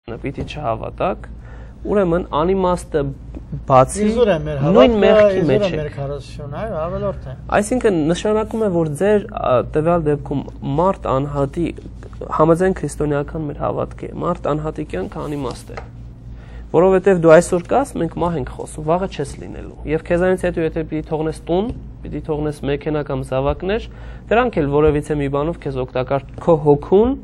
Պիտի չհավատակ, ուրեմն անիմաստը բացի նույն մեղքի մեջ է։ Այսինքն նշանակում է, որ ձեր տվյալ դեպքում մարդ անհատի համաձայն քրիստոնեական մեր հավատքի մարդ անհատի կյանքը անիմաստ է, որովհետև դու այսօր կաս, մենք մահ ենք խոսում, վաղը չես լինելու, եւ քեզանից հետո եթե պիտի թողնես տուն, պիտի թողնես մեքենա կամ զավակներ, դրանք էլ որևիցե մի բանով քեզ օգտակար, քո հոգուն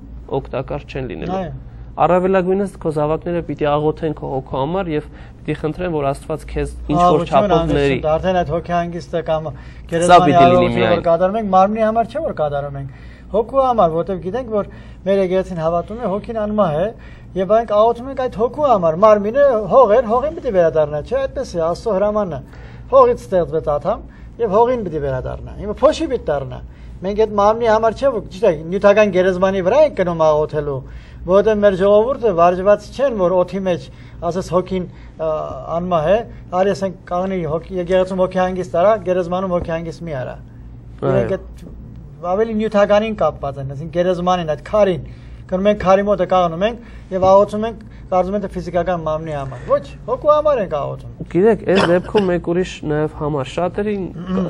օգտակար չեն լինելու։ Առավելագույնս քո զավակները պիտի աղոթեն քո հոգու համար եւ պիտի խնդրեն, որ Աստված քեզ ինչ որ չափով ների։ Արդեն այդ հոգեհանգիստը կամ գերեզմանի արարողությունը որ կատարում ենք, մարմնի համար չէ որ կատարում ենք, հոգու համար, որտեղ գիտենք, որ մեր եկեղեցին հավատում է հոգին անմահ է եւ այն աղոթում ենք այդ հոգու համար, մարմինը հող էր, հողին պիտի վերադառնա, չէ՞, այդպես է Աստծո հրամանն է։ Հողից ստեղծվեց աթամ եւ հողին պիտի վերադառնա։ Հիմա փոշի պիտի դառնա։ Մենք այդ մարմնի համար չէ, որ ճիշտ է, նյութական գերեզմանի վրա ենք գնում աղոթելու, որտեղ մեր ժողովուրդը վարժված չեն, որ օթի մեջ ասես հոգին անմահ է, արի ասենք կանգնի եկեղեցում հոգեհանգիստ արա, գերեզմանում հոգեհանգիստ մի արա։ Իրենք այդ ավելի նյութականին կապված են, ասենք գերեզմանին, այդ քարին, գնում ենք քարի մոտը կանգնում ենք եւ աղոթում ենք, կարծում ենք ֆիզիկական մարմնի համար։ Ոչ, հոգու համար ենք աղոթում։ Գիտեք, այս դեպքում մեկ ուրիշ նաեւ համար շատերին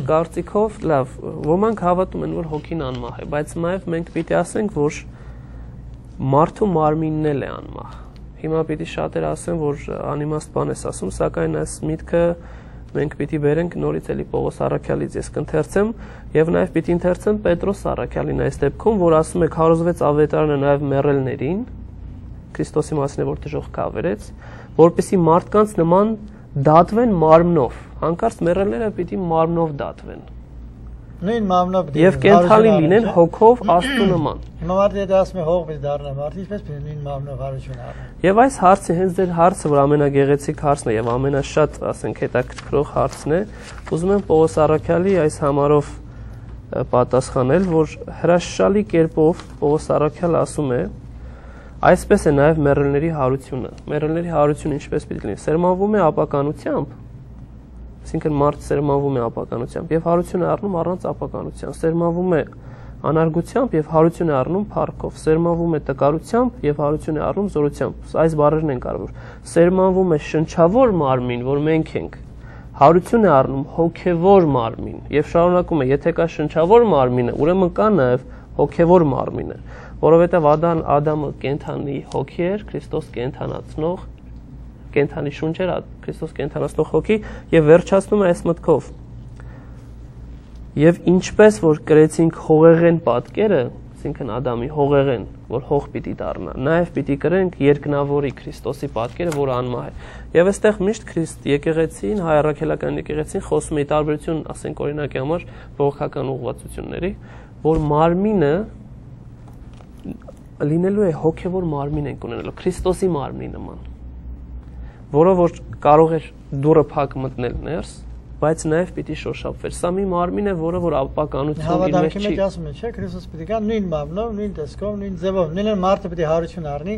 կարծիքով լավ, ոմանք հավատում են, որ հոգին անմահ է, բայց նաեւ մենք պիտի ասենք, որ մարդու մարմինն էլ է անմահ։ Հիմա պիտի շատերը ասեն, որ անիմաստ բան ես ասում, սակայն այս միտքը մենք պիտի բերենք նորից էլի Պողոս Առաքյալից ես կընթերցեմ եւ նաեւ պիտի ընթերցեմ Պետրոս Առաքյալին այս դեպքում, որ ասում է քարոզվեց ավետարանը նաեւ մեռելներին, Քրիստոսի մասին է, որ դժոխք կավերեց, որպեսզի մարդկանց նման դատվեն մարմնով, հանկարծ մեռելները պիտի մարմնով դատվեն։ Նույն մարմնով եւ կենթանի լինեն հոգով Աստծո նման։ Հիմա մարդը եթե ասում է հող պիտի դառնա, մարդը ինչպես պիտի նույն մարմնով հարություն առնի։ Եվ այս հարցը հենց ձեր հարցը, որ ամենագեղեցիկ հարցն է եւ ամենաշատ, ասենք, հետաքրքրող հարցն է, ուզում եմ Պողոս Առաքյալի այս համարով պատասխանել, որ հրաշալի կերպով Պողոս Առաքյալը ասում է, այսպես է նաեւ մեռելների հարությունը։ Մեռելների հարությունը ինչպես պիտի լինի։ Սերմանվում է ապականությամբ, այսինքն մարդ սերմանվում է ապականությամբ եւ հարություն է առնում առանց ապականության, սերմանվում է անարգությամբ եւ հարություն է առնում փառքով, սերմանվում է տկարությամբ եւ հարություն է առնում զորությամբ։ Այս բառերն են կարևոր։ Սերմանվում է շնչավոր մարմին, որ մենք ենք, հարություն է առնում հոգեվոր մարմին եւ շարունակում է, եթե կա շնչավոր մարմինը, ուրեմն կա նաեւ հոգեվոր մարմինը, որովհետեւ Ադամը կենթանի հոգի էր, Քրիստոս կենթանացնող կենթանի շունչ էր, Քրիստոս կենթանացնող հոգի եւ վերջացնում է այս մտքով։ Եվ ինչպես որ կրեցինք հողեղեն պատկերը, այսինքն Ադամի հողեղեն, որ հող պիտի դառնա, նաեւ պիտի կրենք երկնավորի Քրիստոսի պատկերը, որ անմահ է։ Եվ այստեղ միշտ Քրիստ եկեղեցին, հայ առաքելական եկեղեցին խոսում է տարբերություն, ասենք օրինակի համար բողոքական ուղղվածությունների, որ մարմինը լինելու է հոգեվոր մարմին ենք ունենալու, Քրիստոսի մարմնի նման, որը որ կարող էր դուրը փակ մտնել ներս, բայց նաև պիտի շոշափվեր։ Սա մի մարմին է, որը որ ապականություն իր մեջ չի։ Հավատքի մեջ ասում է, չէ՞, Քրիստոս պիտի գա նույն մարմնով, նույն տեսքով, նույն ձևով, նույն մարդը պիտի հարություն առնի,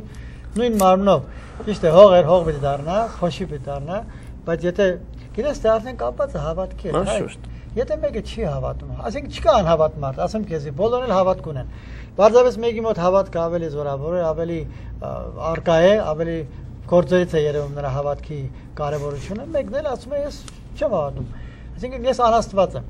նույն մարմնով։ Ճիշտ է, հող էր, հող պիտի դառնա, փոշի պիտի դառնա, բայց եթե գիտես, դա արդեն կապված է հավատքի հետ։ Եթե մեկը չի հավատում, ասենք չկա անհավատ մարդ, ասեմ քեզի, բոլորն էլ հավատք ունեն։ Բարձրապես մեկի մոտ հավատքը ավելի զորավոր է, ավելի արկա է, ավելի գործերից է երևում նրա հավատքի կարևորությունը, մեկն էլ ասում է ես չեմ հավատում։ Այսինքն ես անաստված եմ։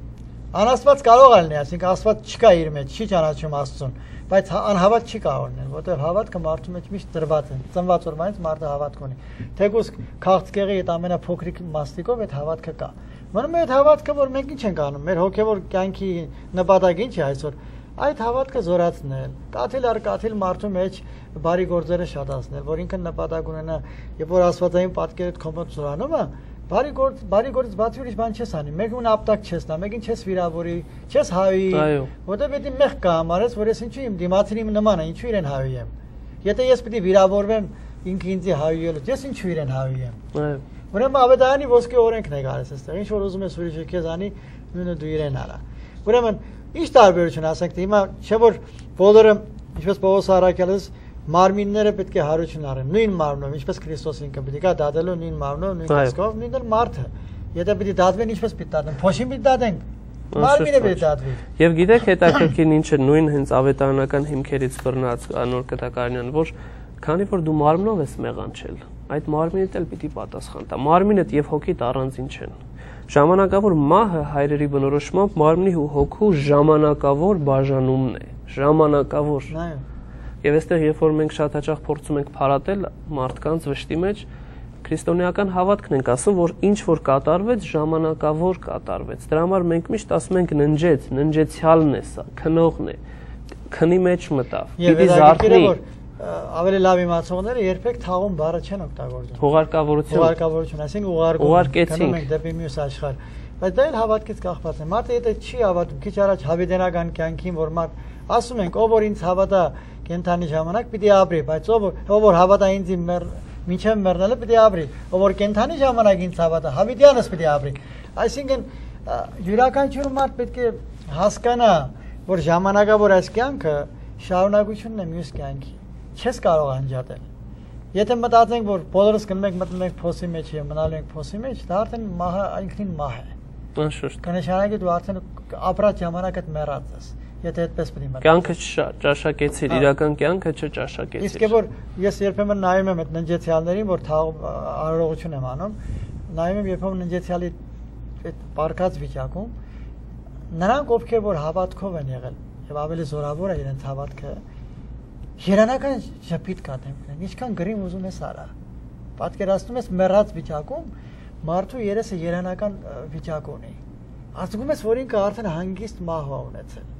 Անաստված կարող է լինել, այսինքն Աստված չկա իր մեջ, չի ճանաչում Աստծուն, բայց անհավատ չի կարող լինել, որտեղ հավատքը մարդու մեջ միշտ դրված է։ Ծնված օրվանից մարդը հավատք ունի։ Թեկուզ քաղցկեղի այդ ամենափոքրիկ մաստիկով այդ հավատքը կա։ Մնում է այդ հավատքը, որ մենք ինչ ենք անում, մեր հոգևոր կյանքի նպատակը ինչ է այսօր։ Այդ հավատքը զորացնել, կաթիլ առ կաթիլ մարդու մեջ բարի գործերը շատացնել, որ ինքը նպատակ ունենա, երբ որ աստվածային պատկերը քո մոտ զորանում է, բարի գործից բացի ուրիշ բան չես անի, մեկին ապտակ չես տա, մեկին չես վիրավորի, չես հավի, որտեղ պետք է մեղ կա համարես, որ ես ինչու իմ դիմացին իմ նման է, ինչու իրեն հավի եմ։ Եթե ես պիտի վիրավորվեմ ինքը ինձ հավիելուց, ես ինչու իրեն հավի եմ։ Ուրեմն ավետարանի ոսկե օրենքն է գալիս այստեղ, ինչ որ ուզում ես ուրիշը քեզ անի, նույնը դու իրեն արա։ Ուրեմն ինչ տարբերություն ասենք, հիմա չէ որ բոլորը ինչպես Պողոս Առաքյալս մարմինները պետք է հարություն առեն, նույն մարմնով, ինչպես Քրիստոս ինքը պետք է դատելու նույն մարմնով, նույն տեսքով, նույնն էլ մարդը։ Եթե պետք է դատվեն, ինչպես պետք է դատեն, փոշին պետք է դատենք, մարմինը պետք է դատվի։ Եվ գիտեք հետաքրքիր ինչ է նույն հենց ավետարանական հիմքերից բռնած Անոր Կտակարյանն, որ քանի որ դու մարմնով ես մեղանչել, այդ մարմինդ էլ պիտի պատասխան տա։ Մարմինդ եւ հոգիդ առանձին չեն։ Ժամանակավոր մահը հայրերի բնորոշմամբ մարմնի ու հոգու ժամանակավոր բաժանումն է, ժամանակավոր։ Եվ այստեղ երբ որ մենք շատ հաճախ փորձում ենք փարատել մարդկանց վշտի մեջ, քրիստոնեական հավատքն ենք ասում, որ ինչ որ կատարվեց, ժամանակավոր կատարվեց։ Դրա համար մենք միշտ ասում ենք ննջեց, ննջեցյալն է սա, քնողն է, քնի մեջ մտավ։ Պիտի զարթնի։ Ավելի լավ իմացողները երբեք թաղում բառը չեն օգտագործում։ Հուղարկավորություն, այսինքն ուղարկում ենք դեպի մյուս աշխարհ։ Բայց դա էլ հավատքից կախված է։ Մարդը եթե չի հավատում, քիչ առաջ հավիտենական կյանքին, որ մարդ ասում ենք, ով որ ինձ հավատա կենթանի ժամանակ պիտի ապրի, բայց ով որ հավատա ինձ մինչև մեռնելը պիտի ապրի, ով որ կենթանի ժամանակ ինձ հավատա, հավիտյանս պիտի ապրի։ Այսինքն յուրաքանչյուր մարդ պետք է հասկանա, որ ժամանակավոր այս կյանքը շարունակությունն է մյուս կյանքի։ Չես կարող անջատել։ Եթե մտածենք, որ բոլորս գնում ենք մտնում ենք փոսի մեջ եւ մնալու ենք փոսի մեջ, դա արդեն մահը ինքնին մահ է։ Անշուշտ։ Կնշանակի դու արդեն ապրած ժամանակդ մեռած ես։ Եթե այդպես պիտի մտածես։ Կյանքը չճաշակեցիր, իրական կյանքը չճաշակեցիր։ Իսկ որ ես երբեմն նայում եմ այդ ննջեցյալներին, որ արարողություն եմ անում, նայում եմ երբեմն ննջեցյալի այդ պարկած վիճակում, նրանք ովքեր որ հավատքով են եղել եւ ավելի զորավոր է իրենց հավատքը, երանական շփիտ կատեմ, ինչքան գրիմ ուզում ես արա։ Պատկերացնում ես մեռած վիճակում մարդու երեսը երանական վիճակ ունի։ Ասում ես, որ ինքը արդեն հանգիստ մահ ունեցել։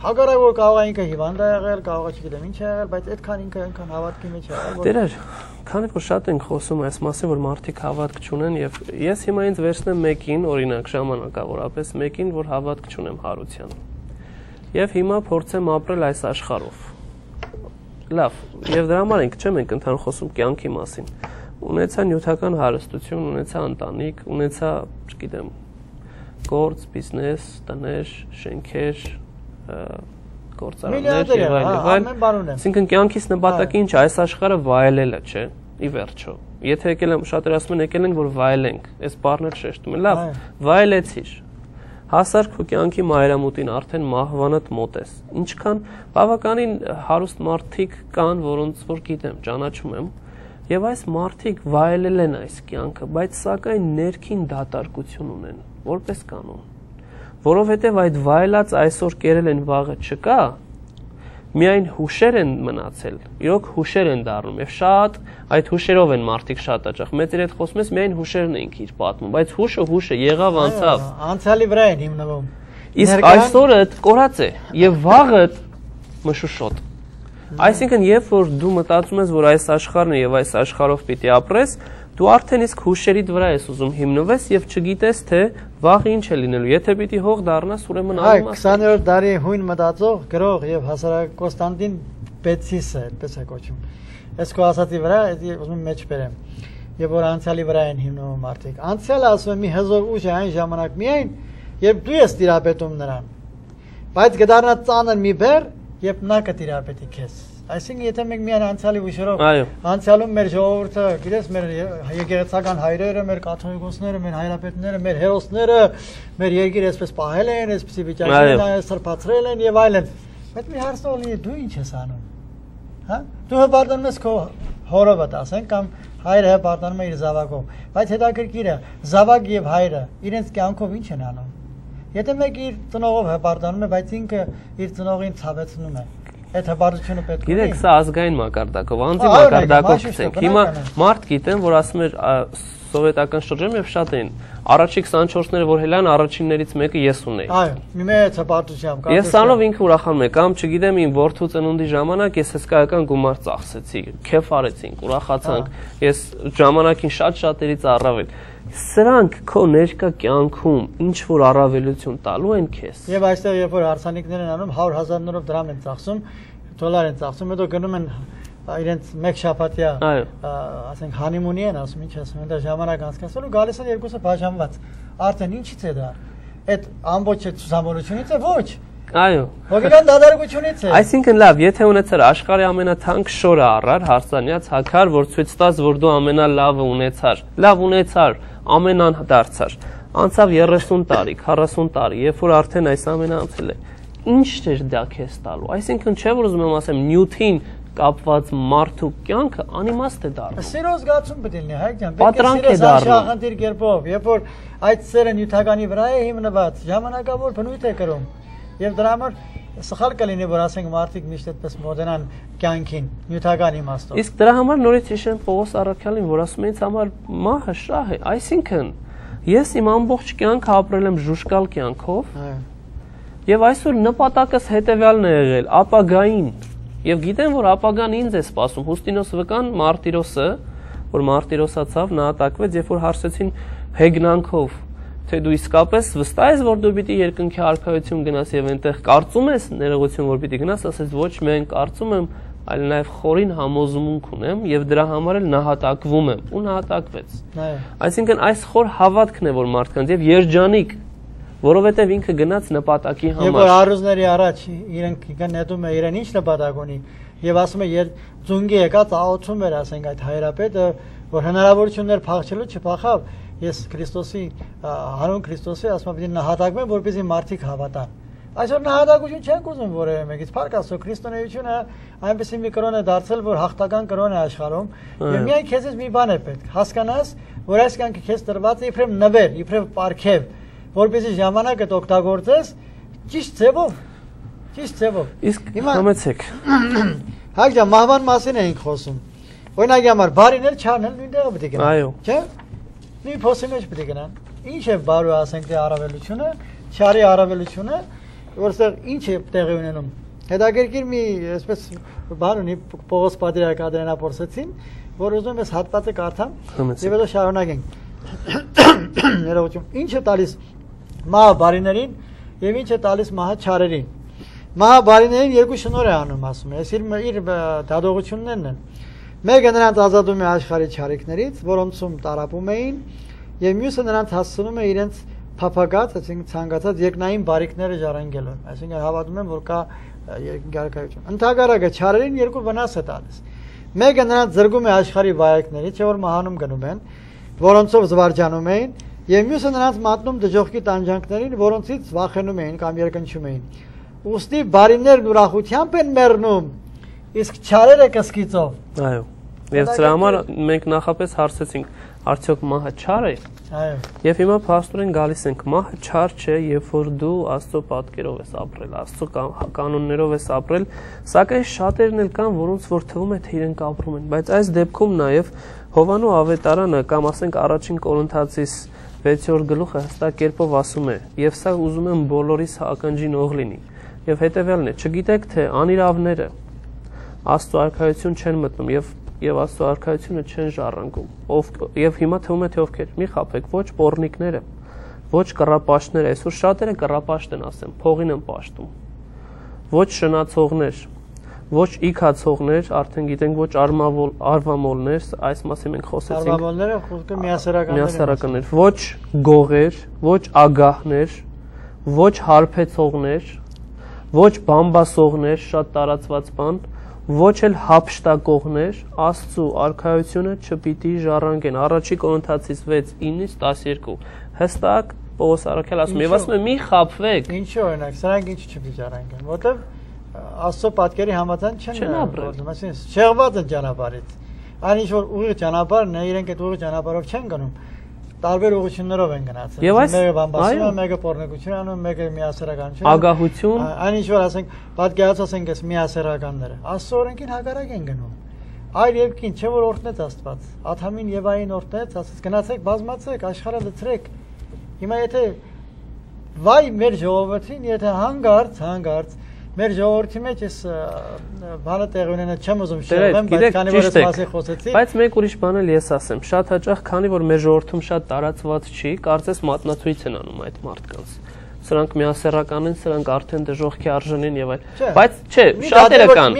Հակառակ որ կարող է ինքը հիվանդ է եղել, կարող է չգիտեմ ինչ է եղել, բայց այդքան ինքը այնքան հավատքի մեջ է եղել։ Տերեր, քանի որ շատ ենք խոսում այս մասին, որ մարդիկ հավատք չունեն եւ ես հիմա ինձ վերցնեմ մեկին, օրինակ ժամանակավորապես մեկին, որ հավատք չունեմ հարության։ Եվ հիմա փորձեմ ապրել այս աշխարհով։ Լավ, եւ դրա համար ենք ընդհանուր խոսում կյանքի մասին։ Ունեցա նյութական հարստություն, ունեցա ընտանիք, ունեցա, չգիտեմ, գործ, բիզնես, տներ, շենքեր, գործարաններ եւ այլն։ Այսինքն կյանքից նպատակը ինչ է, այս աշխարհը վայելելը, չէ՞, ի վերջո։ Եթե եկել եմ, շատերը ասում են եկել ենք, որ վայելենք, այս բառն էլ շեշտում են։ Լավ, վայելեցիր։ Հասար քո կյանքի մայրամուտին, արդեն մահվանդ մոտ ես։ Ինչքան բավականին հարուստ մարդիկ կան, որոնց որ գիտեմ, ճանաչում եմ, եւ այս մարդիկ վայելել են այս կյանքը, բայց սակայն ներքին դատարկություն ունեն, որպես կանոն։ Որովհետև այդ վայելած այսօր կերել են վաղը չկա, միայն հուշեր են մնացել, իրոք հուշեր են դառնում եւ շատ այդ հուշերով են մարդիկ շատ հաճախ։ Մեծ իր հետ խոսում ես, միայն հուշերն են իր պատմում, բայց հուշը եղավ անցավ։ Անցյալի վրա են հիմնվում։ Իսկ այսօրը կորած է եւ վաղը մշուշոտ։ Այսինքն երբ որ դու մտածում ես, որ այս աշխարհն է եւ այս աշխարհով պիտի ապրես, դու արդեն իսկ հուշերիդ վրա ես ուզում հիմնվես եւ չգիտես թե վաղ ինչ է լինելու։ Եթե պիտի հող դառնաս, ուրեմն անում ես։ 20-րդ դարի հույն մտածող գրող եւ հասարակ Կոստանդին Պեցիսը, այդպես է կոչում։ Այս քո ասածի վրա ուզում եմ մեջ բերեմ։ Եվ որ անցյալի վրա են հիմնվում մարդիկ։ Անցյալը ասում է մի հզոր ուժ է այն ժամանակ միայն, երբ դու ես տիրապետում նրան։ Բայց կդառնա ծանր մի բեռ, երբ նա կտիրապետի քեզ։ Այսինքն եթե մենք միայն անցյալի ուժերով անցյալում մեր ժողովուրդը, գիտես, մեր եկեղեցական հայրերը, մեր կաթողիկոսները, մեր հայրապետները, մեր հերոսները, մեր երկիրը այսպես պահել են, այսպեսի վիճակին սրբացրել են եւ այլն։ Բայց մի հարց ունի, դու ինչ ես անում։ Հա? Դու հպարտանում ես քո հորովդ, ասենք, կամ հայրը հպարտանում է իր զավակով։ Բայց հետաքրքիր է, զավակ եւ հայրը իրենց կյանքով ինչ են անում։ Եթե մեկը իր ծնողով հպարտանում է, բայց ինքը իր ծնողին ցավեցնում է, այդ հպարտությունը պետք է։ Գիտեք, սա ազգային մակարդակով, անձի մակարդակով գցենք։ Հիմա մարդ գիտեմ, որ ասում էր սովետական շրջանում եւ շատ էին առաջի 24-ները, որ հելան առաջիններից մեկը ես ունեի։ Այո, մի մեծ հպարտությամբ։ Ես սանով ինքը ուրախանում է, կամ չգիտեմ, իմ որդու ծնունդի ժամանակ ես հսկայական գումար ծախսեցի, քեֆ արեցինք, ուրախացանք, ես ժամանակին շատ-շատերից առավել։ Սրանք քո ներկա կյանքում ինչ որ առավելություն տալու են քեզ։ Եվ այստեղ երբ որ հարսանիքներ են անում 100,000-ներով դրամ են ծախսում, դոլար են ծախսում, հետո գնում են իրենց մեկ շաբաթյա, ասենք հանիմունի են ասում, ինչ ասում են, դա ժամանակ անցկացնելու, գալիս են երկուսը բաժանված։ Արդեն ինչից է դա։ Այդ ամբողջ ցուսամոլությունից է ոչ։ Այո։ Հոգեկան դադարությունից է։ Այսինքն լավ, եթե ունեցար աշխարհի ամենաթանկ շորը առար, հարսանյաց հակար, որ ցույց տաս, որ դու ամենալավը ունեցար։ Լավ ունեցար, ամենան դարձար։ Անցավ 30 տարի, 40 տարի, երբ որ արդեն այս ամենը անցել է։ Ինչ էր դա քեզ տալու։ Այսինքն չէ որ ուզում եմ ասեմ Նյութին կապված մարդու կյանքը անիմաստ է դառնում։ Սիրո զգացում պետք է լինի, հայ ջան, Պատրանք է դառնում։ Ախնդիր կերպով, երբ որ այդ սերը նյութականի վրա է հիմնված, ժամանակավոր բնույթ է կրում։ Եվ դրա համար սխալ կլինի, որ ասենք մարդիկ միշտ այդպես մոդենան կյանքին, նյութական իմաստով։ Իսկ դրա համար նորից հիշեմ Պողոս Առաքյալին, որ ասում է ինձ համար մահը շահ է, այսինքն ես իմ ամբողջ կյանքը ապրել եմ ժուշկալ կյանքով։ Եվ այսօր նպատակս հետևյալն է եղել ապագային։ Եվ գիտեմ, որ ապագան ինձ է սպասում։ Հուստինոս վկան Մարտիրոսը, որ մարտիրոսացավ, նահատակվեց, երբ որ հարցեցին հեգնանքով, թե դու իսկապես վստահ ես, որ դու պիտի երկնքի արքայություն գնաս եւ այնտեղ կարծում ես ներողություն, որ պիտի գնաս, ասես ոչ միայն կարծում եմ, այլ նաեւ խորին համոզմունք ունեմ եւ դրա համար էլ նահատակվում եմ ու նահատակվեց։ Այսինքն այս խոր հավատքն է, որ մարդկանց եւ երջանիկ, որովհետեւ ինքը գնաց նպատակի համար։ Եվ որ առուզների առաջ իրենք գնահատում է իրեն ինչ նպատակ ունի եւ ասում է ձունգի եկած աղոթում էր, ասենք այդ հայրապետը, որ հնարավորություններ փախչելու չփախավ, ես Քրիստոսի հանուն Քրիստոսի ասում եմ, պիտի նահատակվեմ, որպեսզի մարդիկ հավատան։ Այսօր նահատակություն չենք ուզում որևէ մեկից, փառք Աստծո, քրիստոնեությունը այնպեսի մի կրոն է դարձել, որ հաղթական կրոն է աշխարհում, եւ միայն քեզից մի բան է պետք, հասկանաս, որ այս կյանքը քեզ տրված է իբրև նվեր, իբրև պարգև, որպեսզի ժամանակդ օգտագործես ճիշտ ձևով, ճիշտ ձևով։ Իսկ համեցեք։ Հայ ջան, մահվան մասին էինք խոսում։ Օրինակի համար բարիներ չարնել նույն տեղը պետք է գնան։ Այո։ Չէ՞։ Նույն փոսի մեջ պետք է գնան։ Ինչ է բարու ասենք դե առավելությունը, չարի առավելությունը, որտեղ ինչ է տեղի ունենում։ Հետաքրքիր մի այսպես բան ունի Պողոս Պատրիարք Ադրենապոլսեցին, որ ուզում ես հատվածը կարդամ, եւ հետո շարունակենք։ Ներողություն։ Ինչ է տալիս մահը բարիներին եւ ինչ է տալիս մահը չարերին։ Մահը բարիներին երկու շնորհ է անում, ասում է։ Այս իր դադողություններն են։ Մեկը նրանց ազատում է աշխարհի չարիքներից, որոնցում տարապում էին, եւ մյուսը նրանց հասցնում է իրենց փափագած, այսինքն ցանկացած երկնային բարիքները ժառանգելու։ Այսինքն հավատում եմ, որ կա երկնքարքայություն։ Ընդհանրակը չարերին երկու վնաս է տալիս։ Մեկը նրանց զրկում է աշխարհի վայրկներից, չէ՞ որ մահանում գնում են, որոնցով զվարճանում էին, եւ մյուսը նրանց մատնում դժոխքի տանջանքներին, որոնցից վախենում էին կամ երկնչում էին։ Ուստի բարիներն ուրախությամբ են մեռնում, իսկ չարերը կսկիծով։ Այո։ Եվ դրա համար մենք նախապես հարցեցինք, արդյոք մահը չար է։ Այո։ Եվ հիմա փաստորեն գալիս ենք, մահը չար չէ, երբ որ դու Աստծո պատկերով ես ապրել, Աստծո կանոններով ես ապրել, սակայն շատերն էլ կան, որոնց որ թվում է, թե իրենք ապրում են, բայց այս դեպքում նաև Հովանու ավետարանը կամ ասենք առաջին Կորինթացիս 6-րդ գլուխը հստակ կերպով ասում է, եւ սա ուզում եմ բոլորիս ակնջին ող լինի։ Եվ հետեւյալն է, չգիտեք թե անիրավները Աստծո արքայություն չեն մտնում եւ Աստծո արքայությունը չեն ժառանգում։ Եվ հիմա թվում է թե ովքեր։ Մի խաբեք, ոչ պոռնիկները, ոչ կռապաշտները, այսօր շատերը կռապաշտ են ասեմ, փողին են պաշտում։ Ոչ շնացողներ, ոչ իքացողներ, արդեն գիտենք, ոչ արվամոլներ, այս մասին մենք խոսեցինք։ Արվամոլները խոսքը միասեռականներ, ոչ գողեր, ոչ ագահներ, ոչ հարբեցողներ, ոչ բամբասողներ, շատ տարածված բան, ոչ էլ հափշտակողներ, Աստծո արքայությունը չպիտի ժառանգեն։ Առաջի Կորինթացիս 6:9-12 հստակ Պողոս Առաքյալը ասում է, եւ ասում է՝ մի խաբվեք։ Ինչու օրինակ, սրանք ինչ չպիտի ժառանգեն, որտեվ Աստծո պատկերի համաձայն չեն ապրում, այսինքն շեղված են ճանապարհից։ Այն ինչ որ ուղիղ ճանապարհն է, իրենք այդ ուղիղ ճանապարհով չեն գնում, տարբեր ուղղություններով են գնացել։ Մեկը բամբասում է, մեկը պոռնոգություն անում, մեկը միասեռականություն։ Ագահություն։ Այն ինչ որ ասենք, պատկերացրեք այս միասեռականները, Աստծո օրենքին հակառակ են գնում։ Այլ երկին չէ որ օրհնեց Աստված։ Ադամին Եվային օրհնեց, ասաց գնացեք, բազմացեք, աշխարհը լցրեք։ Հիմա եթե վայ մեր ժողովրդին, եթե հանգարց մեր ժողովրդի մեջ էս բանը տեղ ունենա չեմ ուզում շեղվեմ, բայց քանի որ ես մասի խոսեցի։ Բայց մեկ ուրիշ բան էլ ես ասեմ, շատ հաճախ, քանի որ մեր ժողովրդում շատ տարածված չի, կարծես մատնացույց են անում այդ մարդկանց։ Սրանք միասեռական են, սրանք արդեն դժոխքի արժան են եւ այլ։ Բայց չէ, շատերը կան։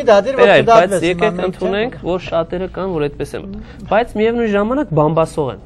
Բայց եկեք ընդունենք, որ շատերը կան, որ այդպես են։ Բայց միևնույն ժամանակ բամբասող են։